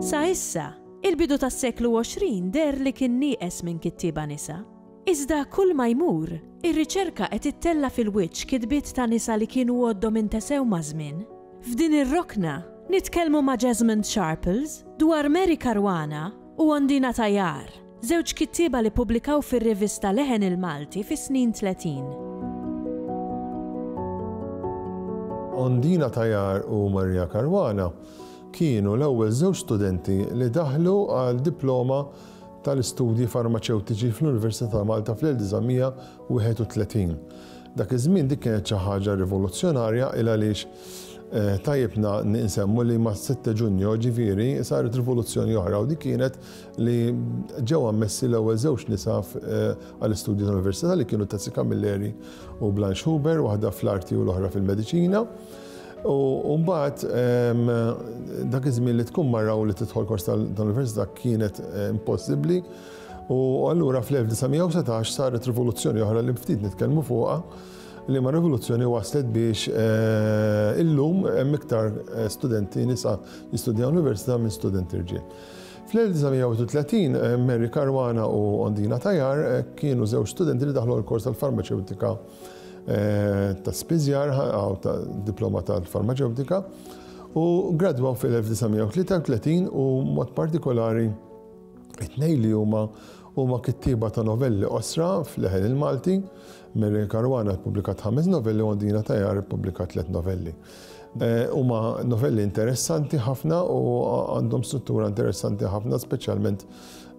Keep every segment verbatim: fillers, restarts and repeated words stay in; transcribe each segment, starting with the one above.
Sa issa, il-bidu tas-seklu għoxrin deher li kien nieqes minn kittieba nisa. Iżda kull ma jmur, ir-riċerka qed ittella' fil-wiċċ kitbiet ta' nisa li kienu għoddhom intesew maż-żmien. F'din ir-rokna, nitkellmu ma' Jesmond Sharples dwar Mary Caruana u Ondina Tayar, żewġ kittieba li ppubblikaw fir-rivista Leħen il-Malti fis-snin tletin. Ondina Tayar u Maria Caruana kienu l-ewwel żewġ studenti li daħlu għal diploma tal-istudji farmaċewtiċi fl-Università ta' Malta fl-elf disa' mija wieħed u tletin. Dak iż-żmien dik kienet xi ħaġa rivoluzzjonarja il għaliex, eh, tajjeb nsemmu li ma' sette Ġunju ġifieri saret rivoluzzjoni oħra u dik kienet li ġew ammessi l-ewwel żewġ nisa f-, eh, għall-istudji tal-Università li kienu Tazzi Camilleri u Blanche Huber, waħda fl-arti u l-oħra fil-mediċina. U mbagħad, ehm, dak iż-żmien li tkun marra u li tidħol kors tal-, tal-università kienet, eh, impossibbli. U allura fl-elf disa' mija u setax saret rivoluzzjoni oħra li ftit nitkellmu fuqha, li ma rivoluzzjoni waslet biex, eh, illum hemm iktar, eh, studenti nisa jistudjaw l-università minn studenti rġiel. Fl-elf disa' mija u tletin, eh, Mary Caruana u Ondina Tayar, eh, kienu żewġ studenti li daħlu l-kors tal-farmaceutika, eh, ta' spiżjar, għaw ta' diploma tal-farmaceutika, u gradwaw fil-elf disa' mija u tlieta u tletin u mod partikolari it-tnejn li huma huma kittieba ta' novelli qosra fl-Leħen il-Malti. Mary Caruana ppubblikat ħames novelli u Ondina Tayar ppubblikat tliet novelli. Eh, huma novelli interessanti ħafna u għandhom struttura interessanti ħafna, speċjalment,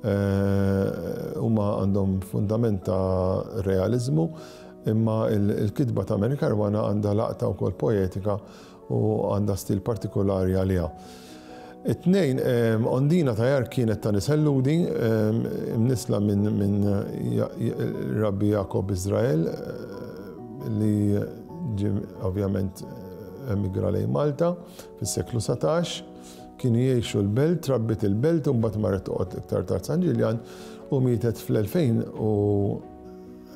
eh, huma għandhom fundament ta' realizmu, imma il-, il-kitba ta' Mary Caruana għandha laqta wkoll poetika u għandha stil partikolari għaliha. It-tnejn, ehm, Ondina Tayar kienet ta' nisel Lhudi, ehm, imnisla minn, minn Ja-, Ja-, Rabbi Jakob Israel, eh, li ġie ovvjament emigra lejn Malta fis-seklu satax, kienu jgħixu l-belt, trabbit il-belt u mbagħad marret toqgħod iktar tard San Ġiljan u mietet fl-elfejn u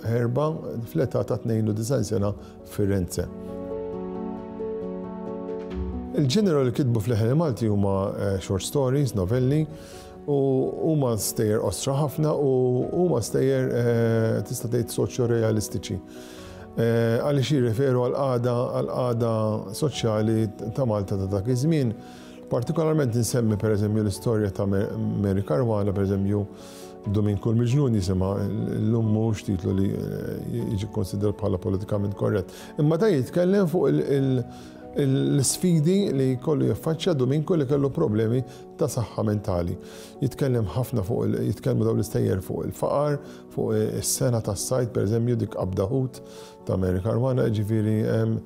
erba' fl-età ta' tnejn u disgħin sena Firenze. Il-ġeneru li kitbu fl-Leħen il-Malti huma, eh, short stories, novelli, u huma stejjer qosra ħafna u huma stejjer, eh, tista' tgħid soċjo-realistiċi. Eh, għaliex jirreferu għal-qagħda, għal-qagħda soċjali ta' Malta ta' dak iż-żmien. Partikolarment insemmi pereżempju l-istorja ta' Mer-, Mary Caruana, pereżempju Dominku l-Miġnun jisimha, llum mhux titlu li, eh, jiġi konsidrat bħala politikament korrett. Imma da jitkellem fuq il-, il-, l-sfidi li kollu jaffaċċja Dominku li kellu problemi ta' saħħa mentali. Jitkellem ħafna fuq il-, jitkellmu dawn l-istejjer fuq il-faqar, fuq is-sena tas-sajd, pereżempju dik qabda ħut ta' Mary Caruana, ġifieri, em,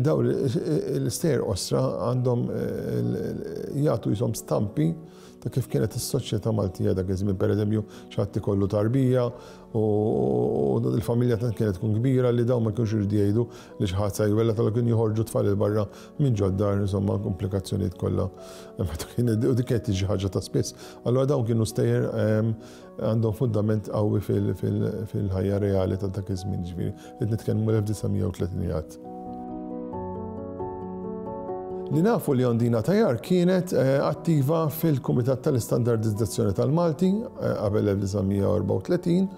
dawn l-istejjer qosra għandhom, eh, jagħtu jisom stampi ta' kif kienet is-soċjetà Maltija dak iż-żmien, pereżempju xi ħadd ikollu tarbija u, u l-familja tant kienet tkun kbira li dawn ma kienux iridu jgħidu li xi ħadd se jwelled, allura kienu joħorġu tfal il barra minn ġod-dar, insomma, komplikazzjonijiet kollha. U dik kienet tiġi ħaġa ta' spiss. Allura dawn kienu stejjer, ehm, għandhom fundament qawwi fil-, fil-, fil-ħajja reali ta' dak iż-żmien, ġifieri, qed nitkellmu l-elf disa' mija u tletinijiet. Li nafu li Ondina Tayar kienet, eh, attiva fil-Kumitat tal-Istandardizzazzjoni tal-Malti, eh, qabel l-elf disa' mija u erbgħa u tletin,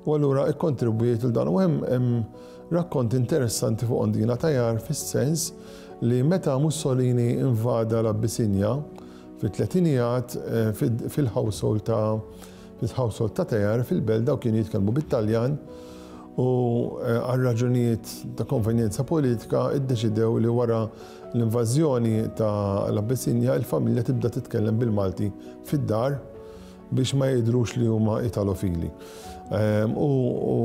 u allura ikkontribwiet il dan. U hemm, hemm rakkont interessanti fuq Ondina Tayar fis-sens li meta Mussolini invada l-Abissinja fit-tletinijat, eh, fil-, fil-household ta' fil-household ta' Tayar fil-belt daw kienu jitkellmu bit-Taljan u, eh, għal raġunijiet ta' konvenjenza politika iddeċidew li wara l-invażjoni ta' l-Abissinja il-familja tibda titkellem bil-Malti fid-dar biex ma jidhrux li huma italofili. Ehm, u, u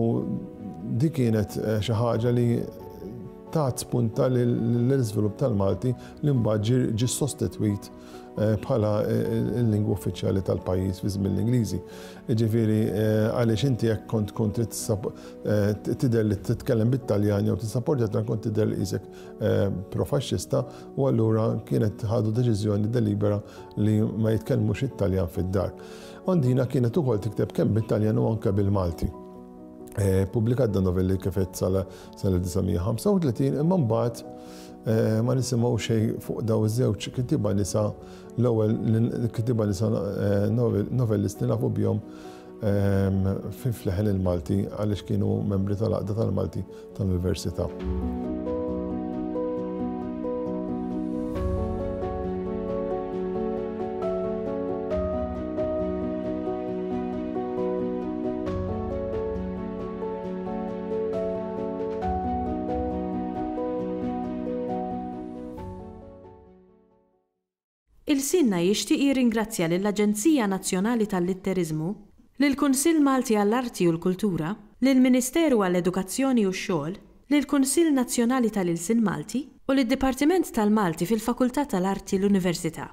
dik kienet, eh, xi ħaġa li tat spunta l-iżvilupp tal-Malti li mbagħad ġie, ġie sostitwit bħala l-lingwa uffiċjali tal-pajjiż fi żmien l-Ingliżi. Jiġifieri għaliex inti jekk kont kont tidher li titkellem bit-Taljan jew tissapportja kont tidher li qisek profaxxista, u allura kienet ħadu deċiżjoni delibera li ma jitkellmux it-Taljan fid-dar. Ondina kienet ukoll tikteb kemm bit-Taljan u anke bil-Malti. Pubblikat dan novelli kif għedt sal-elf disa' mija ħamsa u tletin, imma mbagħad ma nisimgħu xejn fuq daw iż-żewġ kittieba nisa, l-ewwel kittieba nisa novellisti nafu bihom fi fleħen il-Malti għaliex kienu membri tal-Għaqda tal-Malti tal-Università. Il-Sinna jixtieq jirringrazzja lill-Aġenzija Nazzjonali tal-Litteriżmu, lill-Kunsill Malti għall-Arti u l-Kultura, lill-Ministeru għall-Edukazzjoni u x-Xogħol, lill-Kunsill Nazzjonali tal-Ilsien Malti u lid-Dipartiment tal-Malti fil-Fakultà tal-Arti l-Università.